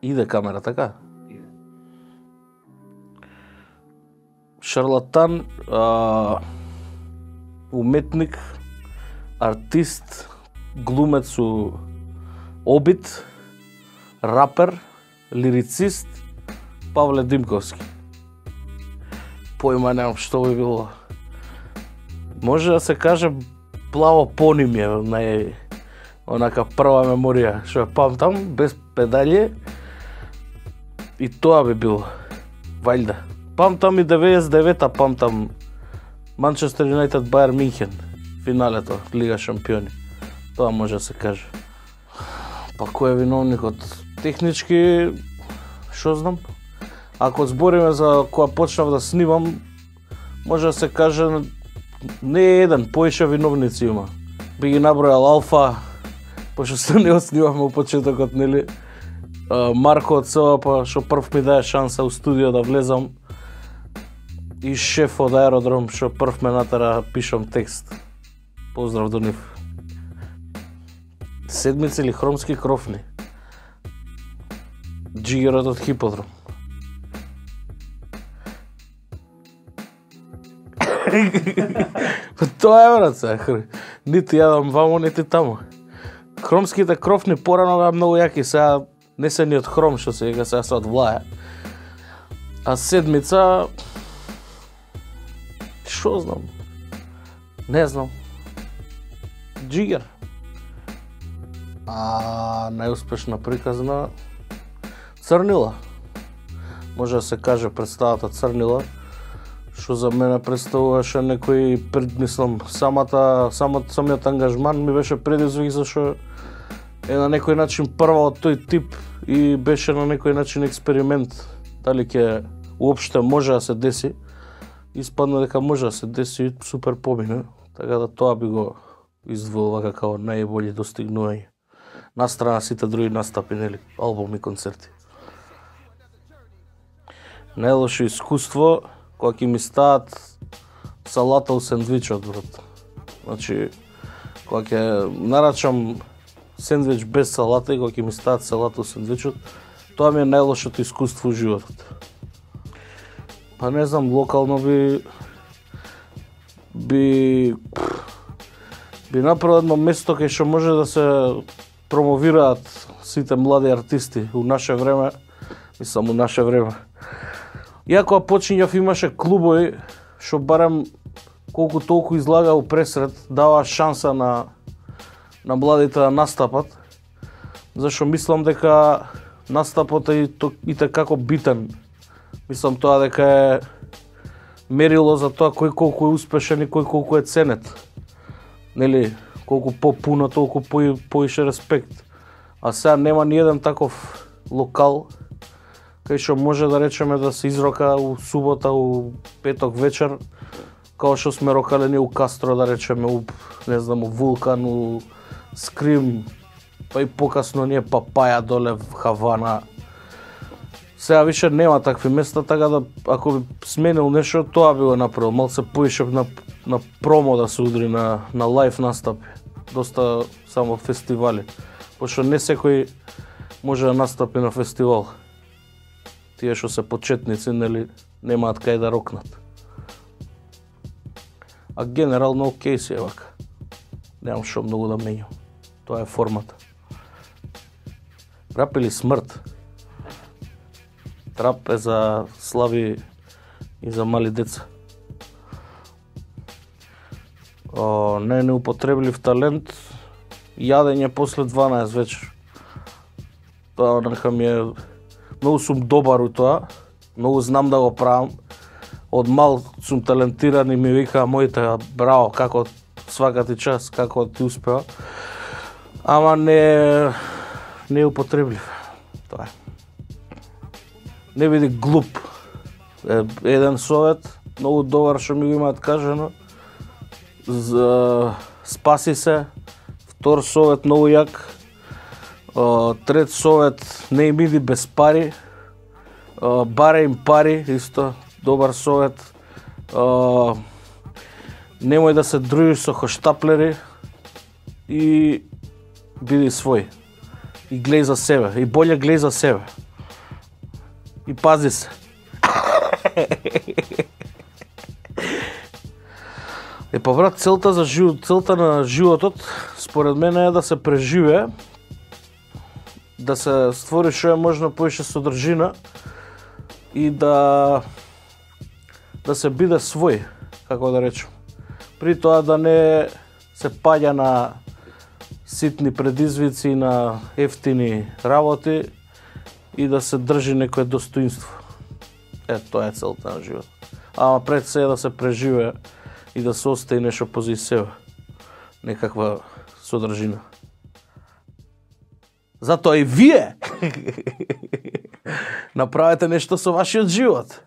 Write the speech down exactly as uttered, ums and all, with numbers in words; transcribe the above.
Иде камера, така? Иде. Шарлатан, а, уметник, артист, глумец со обид, рапер, лирицист, Павле Димковски. Појма немам што би било. Може да се каже плаво понимје, нај онака прва меморија, што ја памтам, без педалје, и тоа би било. Вајда. Памтам и деветдесет и девета, памтам Манчестер Юнайтед Бајер Минхен, финалето, Лига шампиони. Тоа може да се каже. Па кој е виновникот? Технички, што знам? Ако збориме за кога почнав да снимам, може да се каже не е еден, поише виновници има. Би ги набројал Алфа, пошто се не снимавме у почетокот, нели? Марко од СВП, што прв ми даде шанса у студио да влезам, и шеф од Аеродром, што прв ме натера пишам текст. Поздрав до нив. Седмици или Хромски крофни. Джигерот од Хиподром. Тоа е, брат, се. Нити јадам вамо, нити тамо. Хромските крофни порано беа многу јаки, сега не се ни од хром, што се вика, сега се од влаја. А седмица... Шо знам? Не знам. Джигер. А најуспешна приказна... Црнила. Може да се каже представата Црнила, што за мене представуваше некој, мислам, самата, самата, самиот ангажман ми беше предизвик, зашто е на некој начин прва од тој тип и беше на некој начин експеримент. Дали ќе уопште може да се деси, испадна дека може да се деси, супер помине, така да тоа би го издвоила како најбољи достигнување. Настрана сите други настапи, нели, албуми, концерти. Најлошо искуство, кога ќе ми стават салата у сендвичот, брат. Значи, кога ќе нарачам сендвич без салата и кога ќе ми стават салата у сендвичот, тоа ми е најлошото искуство у животот. Па не знам, локално би... би... би направил едно место кај што може да се промовираат сите млади артисти у наше време, мислам у наше време. Ја кога почињав имаше клубови што барем колку толку излага у пресред, дава шанса на на младите да настапат, зашто мислам дека настапот е и како битен. Мислам тоа дека е мерило за тоа кој колку е успешен и кој колку е ценет. Нели, колку попуно, толку по, поише респект. А сега нема ни еден таков локал кај што може да речеме да се изрока у субота, у петок вечер, као што сме рокалени у Кастро, да речеме, у, не знам, у Вулкан, у Скрим, па и покасно ние Папаја доле в Хавана. Сега више нема такви места, така да ако би сменил нешто, тоа би го направил. Малце поише на, на промо да се удри на, на лайф настапи. Доста само фестивали. Пошто не секој може да настапи на фестивал. Тие што се почетници, нели, немаат кај да рокнат. А генерално окей си е вака. Немам што многу да менјам. Тоа е формата. Рап или смрт? Рап е за слаби и за мали деца. О, не неупотреблив талент, јадење после дванаесет вечер. Тоа нека ми е... Многу сум добар у тоа, многу знам да го правам. Од мал сум талентиран и ми викаа моите, браво, како свака ти час, како ти успеа. Ама не не употребив. Тоа е. Не биди глуп. Е, еден совет, многу добар што ми го имаат кажано. За... Спаси се. Втор совет, многу јак. Uh, трет совет, не им иди без пари, uh, баре им пари, исто, добар совет. Uh, немој да се дружиш со хоштаплери и биди свој. И глеј за себе, и боле глеј за себе. И пази се. Е, па брат, целта за живот, целта на животот според мене е да се преживее, да се створи што е можно поише содржина и да да се биде свој, како да речем. При тоа да не се паѓа на ситни предизвици, на ефтини работи и да се држи некое достоинство. Е, тоа е целта на живот. Ама пред се е да се преживее и да се остаи нешто позади себе. Некаква содржина. Затоа и вие направете нешто со вашиот живот.